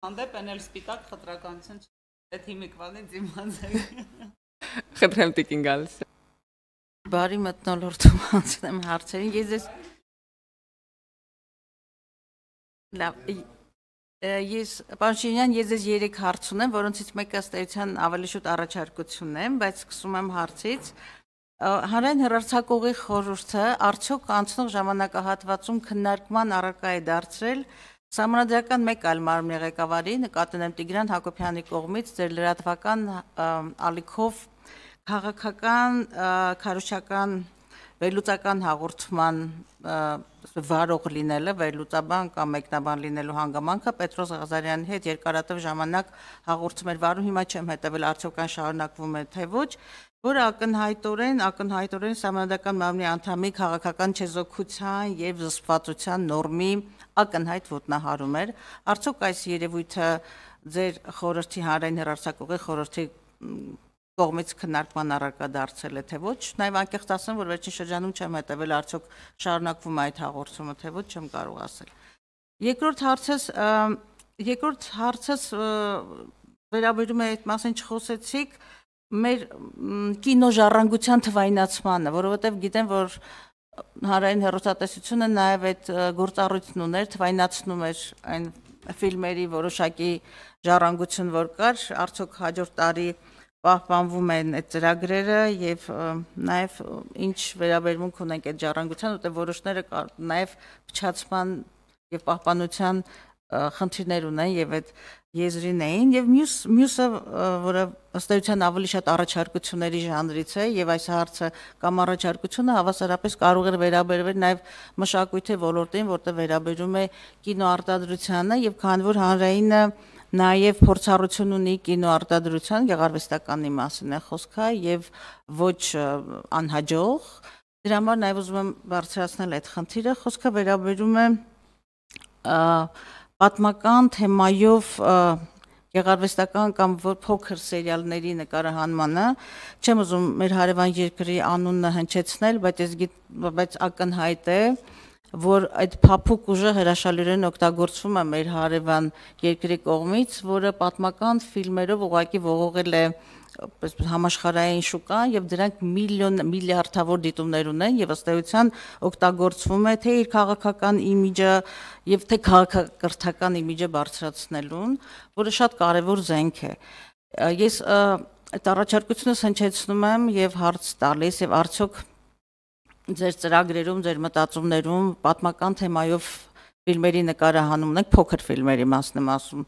Հանդեպ են էլ սպիտակ խտրականություն այդ հիմիկվանից իմաց է։ Խնդրեմ տիկին գալիս։ Բարի մթնոլորտում անցնեմ հարցերին, ես Պանշինյան, ես 3 հարց ունեմ, որոնցից մեկը ըստ էության ավելի շուտ առաջարկությունն է, բայց սկսում եմ հարցից։ Հանրային հեռարձակողի խորհուրդը արդյոք անցնող ժամանակահատվածում քննարկման առարկա է դարձրել Սահմանադրական մեկ այլ մարմնի ղեկավարի, նկատի ունեմ Տիգրան Հակոբյանի կողմից ձեր լրատվական ալիքով քաղաքական, քարոզչական, վերլուծական հաղորդման վարող լինելը, վերլուծաբան կամ մեկնաբան լինելու հանգամանքը Պետրոս Ղազարյանի հետ երկարատև ժամանակ հաղորդում էր վարում, հիմա չեմ հետևել արդյոք այն շարունակվում է թե ոչ, որը ակնհայտորեն Սահմանադրական մարմնի անդամի քաղաքական չեզոքության եւ զսպվածության նորմի ակնհայտ ոտնահարում էր, արդյոք այս երևույթը ձեր խորհրդի հանրային հեռարձակողի խորհրդի կողմից քննարկման առարկա դարձել է թե ոչ, նաև անկեղծ ասեմ, որ վերջին շրջանում չեմ հետևել արդյոք շարունակվում է այդ հաղորդումը թե ոչ, չեմ կարող ասել։ Երկրորդ հարցս վերաբերում է այդ մասին չխոսեցիք մեր կինոժառանգության թվայնացմանը, որովհետև գիտեմ, որ հանրային հեռուստատեսությունը նաև այդ գործառույթն ուներ, թվայնացնում էր այն ֆիլմերի որոշակի ժառանգություն, որ կար, արդյոք հաջորդ տարի պահպանվում են այդ ծրագրերը եւ նաեւ ինչ վերաբերմունք ունենք այդ ժառանգության, որտեղ որոշները նաեւ փչացման եւ պահպանության խնդիրներ ունեն եւ այդ եզրին էին եւ մյուսը, որը ըստ էության ավելի շատ առաջարկությունների ժանրից է եւ այս հարցը կամ առաջարկությունը հավասարապես կարող է վերաբերվել նաեւ մշակույթի ոլորտին, որտեղ վերաբերում է կինոարտադրությանը եւ քանի որ հանրայինը նաև փորձառություն ունի կինոարտադրության գեղարվեստականի մասին է խոսքը եւ ոչ անհաջող, դրա համար նաև ուզում եմ բարձրացնել այդ խնդիրը, խոսքը վերաբերում է պատմական թեմայով գեղարվեստական կամ փոքր սերիալների նկարահանմանը, չեմ ուզում մեր հարևան երկրի անունը հնչեցնել, բայց ակնհայտ է, որ այդ փափուկ ուժը հրաշալիորեն օգտագործվում է մեր հարևան երկրի կողմից, որը պատմական ֆիլմերով ուղղակի ողողել է համաշխարհային շուկան եւ դրանք միլիարդավոր դիտումներ ունեն եւ ըստ էության օգտագործվում է թե իր քաղաքական իմիջը եւ թե քաղաքակրթական իմիջը բարձրացնելուն, որը շատ կարեւոր զենք է։ Ես այդ առաջարկությունս հնչեցնում եմ եւ հարց տալիս եւ արդյոք ձեր ծրագրերում, ձեր մտածումներում պատմական թեմայով ֆիլմերի նկարահանումն եք, փոքր ֆիլմերի մասն եմ ասում,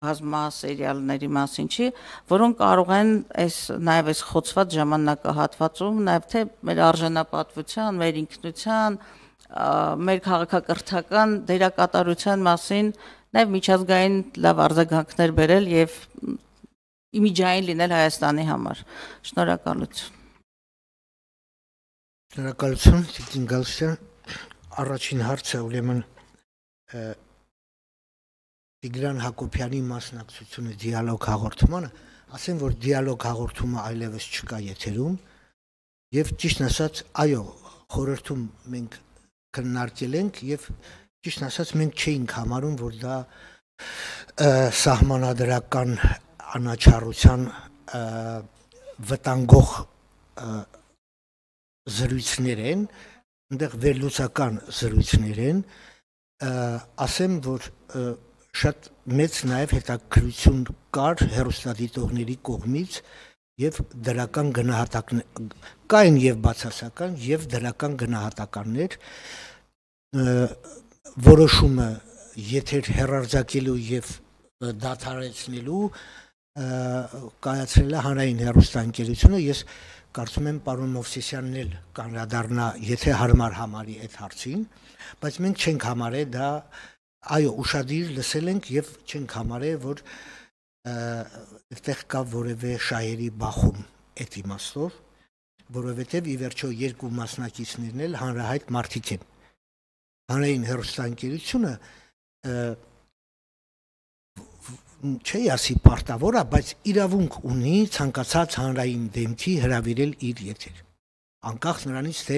բազմա սերիալների մասին չի, որոնք կարող են նաև այս խոցված ժամանակահատվածում, նաև թե մեր արժանապատվության, մեր ինքնության, մեր քաղաքակրթական դերակատարության մասին նաև միջազգային լավ արձագանքներ բերել եւ իմիջային լինել Հայաստանի համար։ Շնորհակալություն։ Շնորհակալություն, Տիկին Գալստյան, առաջին հարցը ուրեմն Տիգրան Հակոբյանի մասնակցությունը դիալոգ հաղորդմանը, ասեմ, որ դիալոգ հաղորդումը այլևս չկա եթերում եւ ճիշտ ասած, այո, խորհրդում մենք քննարկել ենք եւ ճիշտ ասած մենք չէինք համարում, որ դա սահմանադրական անաչառության վտանգող զրույցներ են, այնտեղ վերլուծական զրույցներ են, ասեմ, որ շատ մեծ նաև հետաքրքրություն կար հեռուստադիտողների կողմից եւ դրական գնահատականներ կային եւ բացասական եւ դրական գնահատականներ որոշումը եթեր հեռարձակելու եւ դադարեցնելու կայացրել է հանրային հեռուստաընկերությունը, ես կարծում եմ պարոն Մովսիսյանն էլ կանդրադառնա, եթե հարմար համարի այդ հարցին, բայց մենք չենք համարել դա, այո, ուշադիր լսել ենք եւ չենք համարել, որ այդտեղ կա որևէ շահերի բախում այդ իմաստով, որովհետեւ ի վերջո երկու մասնակիցներն էլ հանրահայտ մարդիկ են։ Հանրային հեռուստաընկերությունը չի ասի պարտավոր է, բայց իրավունք ունի ցանկացած հանրային դեմքի հրավիրել իր եթեր։ Անկախ նրանից, թե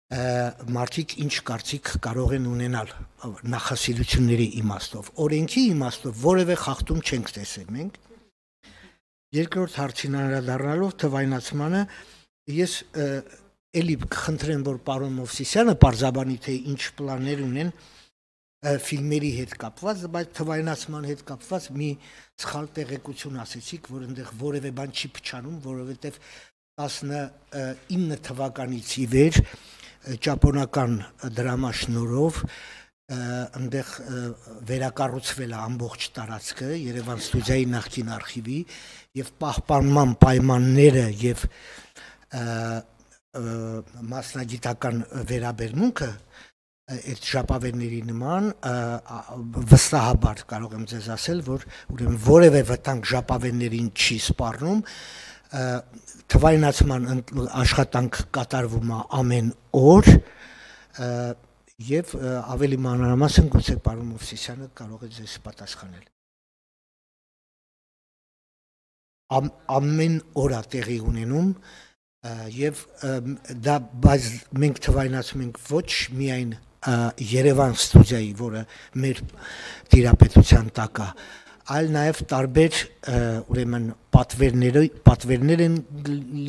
մարդիկ ինչ կարծիք կարող են ունենալ նախասիրությունների իմաստով, օրենքի իմաստով որևէ խախտում չենք տեսել մենք։ Երկրորդ հարցին անդրադառնալով թվայնացմանը, ես էլի կխնդրեմ, որ պարոն Մովսիսյանը պարզաբանի, թե ինչ պլաններ ունեն ֆիլմերի հետ կապված, բայց թվայնացման հետ կապված մի սխալ տեղեկություն ասեցիք, որ այնտեղ որևէ բան չի փչանում, որովհետև 19 թվականից ի վեր ճապոնական դրամաշնորհով այնտեղ վերակառուցվել է ամբողջ տարածքը Երևան ստուդիայի նախկին արխիվի եւ պահպանման պայմանները եւ մասնագիտական վերաբերմունքը այդ ժապավենների նման վստահաբար կարող եմ ձեզ ասել, որ ուրեմն որևէ վտանգ ժապավեններին չի սպառնում, թվայնացման աշխատանք կատարվում է ամեն օր եւ ավելի մանրամասն գուցե պարոն Մովսիսյանը կարող է ձեզ պատասխանել։ Ամեն օր է տեղի ունենում եւ դա բայց մենք թվայնացում ենք ոչ միայն Երևան ստուդիայի, որը մեր տիրապետության տակ է, այլ նաև տարբեր ուրեմն պատվերներ են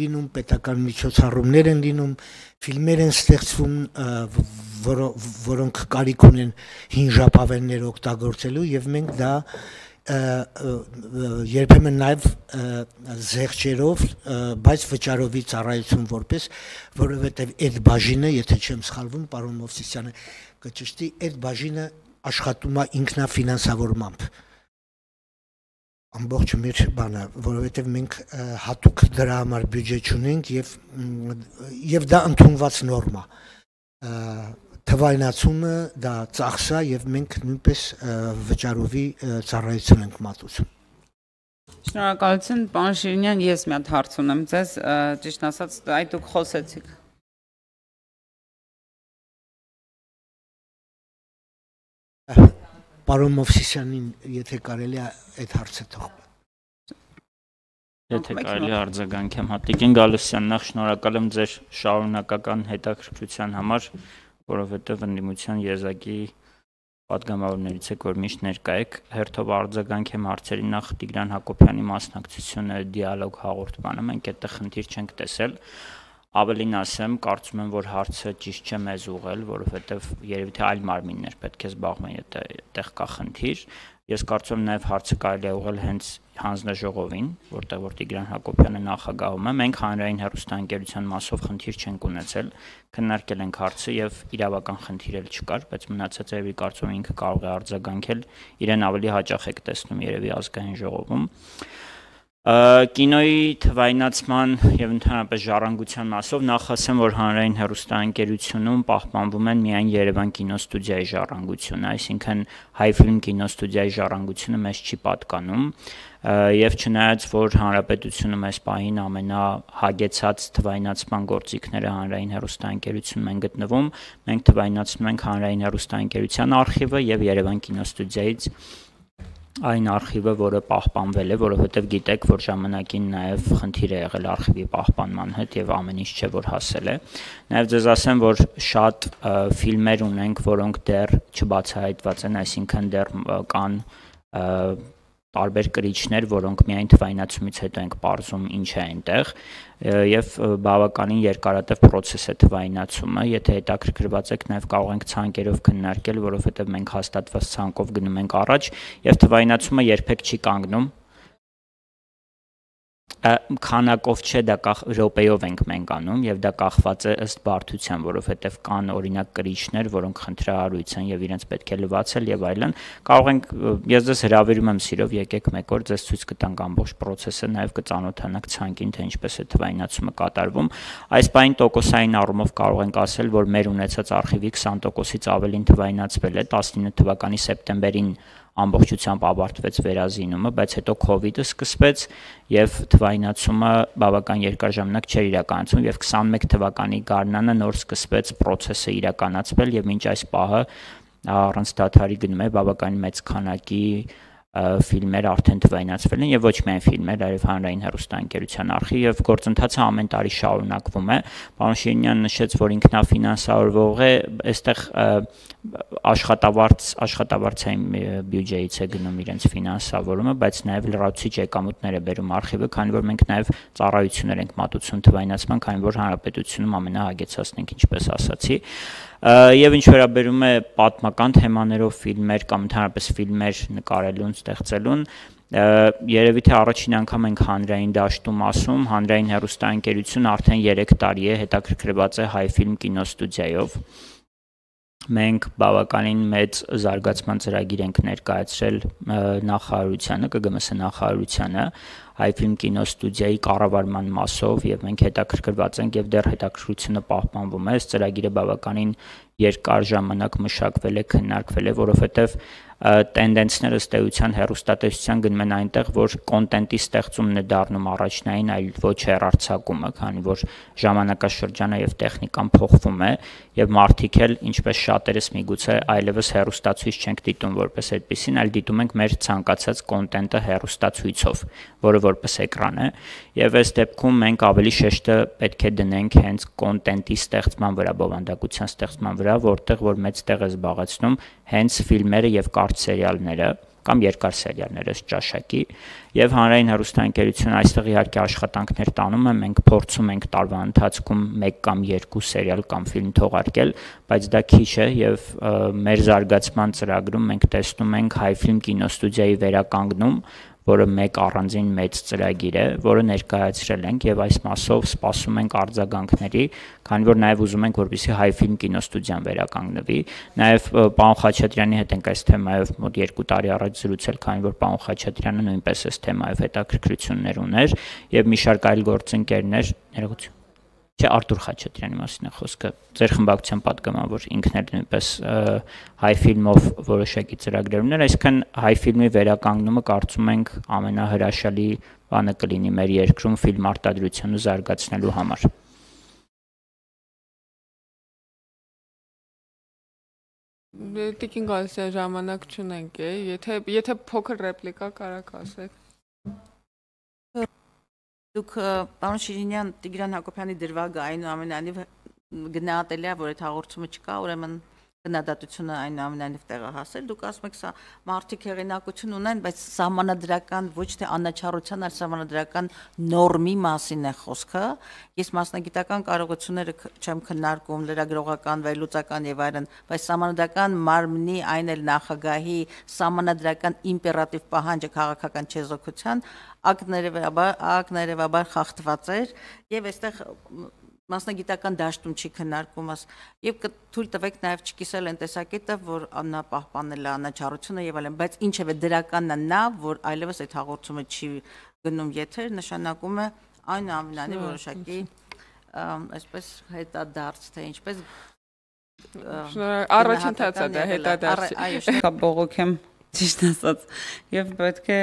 լինում, պետական միջոցառումներ են լինում, ֆիլմեր են ստեղծվում, որոնք կարիք ունեն հին ժապավեններ օգտագործելու եւ մենք դա երբեմն նաև զեղչերով, բայց վճարովի ծառայություն որպես, որովհետև այդ բաժինը, եթե չեմ սխալվում, պարոն Մովսիսյանը կճշտի, այդ բաժինը աշխատում է ինքնաֆինանսավորմամբ։ Ամբողջ մեր բանը, որովհետև մենք հատուկ դրա համար բյուջե չունենք եւ դա ընդունված նորմա։ Թվայնացումը դա ծախս է եւ մենք նույնպես վճարովի ծառայություն ենք մատուցում։ Շնորհակալություն, պարոն Շիրինյան, ես մի հատ հարց ունեմ ձեզ, ճիշտ ասած, այդ դուք խոսեցիք։ Պարոն Մովսիսյանին, եթե կարելի է այդ հարցը թող։ Եթե կարելի է արձագանքեմ Հատիկին Գալստյան, նախ շնորհակալ եմ ձեր շարունակական հետաքրքրության համար, որովհետև ընդդիմության եզակի պատգամավորներից եք, որ միշտ ներկա եք, հերթով արձագանքեմ հարցերի նախ Տիգրան Հակոբյանի մասնակցությունը դիալոգ հաղորդմանը, մենք այդտեղ խնդիր չենք տեսել, ավելին ասեմ, կարծում եմ, որ հարցը ճիշտ չէ մեզ ուղղել, որովհետև երևի թե այլ մարմիններ պետք է զբաղվեն, եթե այդտեղ կա խնդիր, ես կարծում եմ նաև հարցը կարելի է ուղղել հենց հանձնաժողովին, որտեղ որ Տիգրան Հակոբյանը նախագահում է, մենք հանրային հեռուստաընկերության մասով խնդիր չենք ունեցել, քննարկել ենք հարցը եւ իրավական խնդիր էլ չկար, բայց մնացած երևի կարծում եմ ինքը կարող է արձագանքել, իրեն ավելի հաճախ եք տեսնում երևի ազգային ժողովում։ Կինոյի թվայնացման եւ ընդհանրապես ժառանգության մասով նախ ասեմ, որ հանրային հեռուստաընկերությունում պահպանվում են միայն Երևան կինոստուդիայի ժառանգությունը, այսինքն Հայֆիլմ կինոստուդիայի ժառանգությունը մեզ չի պատկանում եւ չնայած որ հանրապետությունը մեզ պահին ամենահագեցած թվայնացման գործիքները հանրային հեռուստաընկերությունում են գտնվում, մենք թվայնացնում ենք հանրային հեռուստաընկերության արխիվը եւ Երևան կինոստուդիայից այն արխիվը, որը պահպանվել է, որովհետև գիտեք, որ ժամանակին նաև խնդիր է եղել արխիվի պահպանման հետ եւ ամեն ինչ չէ, որ հասել է։ Նաև ձեզ ասեմ, որ շատ ֆիլմեր ունենք, որոնք դեռ չբացահայտված են, այսինքն դեռ կան տարբեր կրիչներ, որոնք միայն թվայնացումից հետո ենք պարզում ինչ է այնտեղ եւ բավականին երկարատև process է թվայնացումը, եթե հետաքրքրված եք նաեւ կարող ենք ցանկերով քննարկել, որովհետեւ մենք հաստատված ցանկով գնում ենք առաջ եւ թվայնացումը երբեք չի կանգնում քանակով չէ, դա րոպեով ենք մենք անում եւ դա կախված է ըստ բարդության, որովհետեւ կան օրինակ կրիչներ, որոնք խնդրահարույց են եւ իրենց պետք է լվացել եւ այլն։ Կարող ենք ես ձեզ հրավիրում եմ սիրով, եկեք մեկ օր ձեզ ցույց կտանք ամբողջ process-ը, նաեւ կծանոթանաք ցանկին, թե ինչպես է թվայնացումը կատարվում։ Այս բային տոկոսային առումով կարող ենք ասել, որ մեր ունեցած արխիվի 20%-ից ավելին թվայնացվել է 19 թվականի սեպտեմբերին ամբողջությամբ ավարտվեց վերազինումը, բայց հետո COVID-ը սկսվեց եւ թվայնացումը բավական երկար ժամանակ չէր իրականացվում եւ 21 թվականի գարնանը նոր սկսվեց process-ը իրականացվել եւ մինչ այս պահը առանց դադարի գնում է բավական մեծ քանակի ֆիլմեր արդեն թվայնացվել են եւ ոչ միայն ֆիլմեր, այլև հանրային հեռուստաընկերության արխիվ եւ գործընթացը ամեն տարի շարունակվում է։ Պարոն Շիրինյանը նշեց, որ ինքնաֆինանսավորվող է, այստեղ աշխատավարձային բյուջեից է գնում իրենց ֆինանսավորումը, բայց նաեւ լրացուցիչ եկամուտներ է բերում արխիվը, քանի որ մենք նաեւ ծառայություններ ենք մատուցում թվայնացման, քանի որ հանրապետությունում ամենահագեցածն ենք, ինչպես ասացի։ Եվ ինչ վերաբերում է պատմական թեմաներով ֆիլմեր կամ ընդհանրապես ֆիլմեր նկարելուն, ստեղծելուն, երևի թե առաջին անգամ ենք հանրային դաշտում ասում, հանրային հեռուստաընկերությունը արդեն 3 տարի է հետաքրքրված է Հայֆիլմ կինոստուդիայով։ Մենք բավականին մեծ զարգացման ծրագիր ենք ներկայացրել նախարարությանը, ԿԳՄՍ նախարարությանը, Հայֆիլմ կինոստուդիայի կառավարման մասով եւ մենք հետաքրքրված ենք եւ դեռ հետաքրքրությունը պահպանվում է։ Այս ծրագիրը բավականին երկար ժամանակ մշակվել է, քննարկվել է, որովհետեւ տենդենսները ըստ էության հեռուստատեսության գնում են այնտեղ, որ կոնտենտի ստեղծումն է դառնում առաջնային, այլ ոչ հեռարձակումը, քանի որ ժամանակաշրջանը եւ տեխնիկան փոխվում է եւ մարդիկ էլ, ինչպես շատերս միգուցե այլևս հեռուստացույց չենք դիտում որպես այդպեսին, այլ դիտում ենք մեր ցանկացած կոնտենտը հեռուստացույցով, որը որպես էկրան է, եւ այս դեպքում մենք ավելի շեշտը պետք է դնենք հենց կոնտենտի ստեղծման վրա, բովանդակության ստեղծման վրա, որտեղ որ մեծ տեղ է զբաղեցնում հենց ֆիլմերը եւ կարճ սերիալները կամ երկար սերիալները ճաշակի եւ հանրային հեռուստաընկերությունը այստեղ իհարկե աշխատանքներ տանում է, մենք փորձում ենք տարվա ընթացքում 1 կամ 2 սերիալ կամ ֆիլմ թողարկել, բայց դա քիչ է եւ մեր զարգացման ծրագրում մենք տեսնում ենք Հայֆիլմ կինոստուդիայի վերականգնում, որը մեկ առանձին մեծ ծրագիր է, որը ներկայացրել ենք եւ այս մասով սպասում ենք արձագանքների, քանի որ նաեւ ուզում ենք, որպեսզի Հայֆիլմ կինոստուդիան վերականգնվի։ Նաեւ պարոն Խաչատրյանի հետ ենք այս թեմայով մոտ 2 տարի առաջ զրուցել, քանի որ պարոն Խաչատրյանը նույնպես այս թեմայով հետաքրքրություններ ուներ եւ մի շարք այլ գործընկերներ, ներողություն։ Չէ, Արտուր Խաչատրյանի մասին է խոսքը։ Ձեր խմբակցության պատգամավոր ինքն էլ նույնպես Հայֆիլմով որոշակի ծրագրեր ուներ, այսինքն Հայֆիլմի վերականգնումը կարծում ենք ամենահրաշալի բանը կլինի մեր երկրում ֆիլմ արտադրությունը զարգացնելու համար։ Տիկին Գալստյան ժամանակ չունենք, եթե փոքր ռեպլիկա կարաք ասեք։ Դուք պարոն Շիրինյան, Տիգրան Հակոբյանի դրվագը այնուամենայնիվ գնահատելի է, որ այդ հաղորդումը չկա, ուրեմն գնահատությունը այնուամենայնիվ տեղը հասել։ Դուք ասում եք, սա մարդիկ հեղինակություն ունեն, բայց սահմանադրական ոչ թե անաչառության, այլ սահմանադրական նորմի մասին է խոսքը։ Ես մասնագիտական կարողությունները չեմ քննարկում, լրագրողական, վերլուծական եւ այլն, բայց սահմանադրական մարմնի, այն էլ նախագահի սահմանադրական իմպերատիվ պահանջը քաղաքական չեզոքության ակներևաբար խախտված էր եւ այստեղ մասնագիտական դաշտում չի քննարկում եւ թույլ տվեք նաեւ չկիսել այն տեսակետը, որ նա պահպանել է անաչառությունը եւ այլն, բայց ինչեւէ դրականն է նա, որ այլևս այդ հաղորդումը չի գնում եթեր, նշանակում է այնուամենայնիվ որոշակի այսպես հետադարձ, թե ինչպես առաջընթաց է դա հետադարձ։ Այո, շնորհակալ բողոք եմ ճիշտ ասած եւ պետք է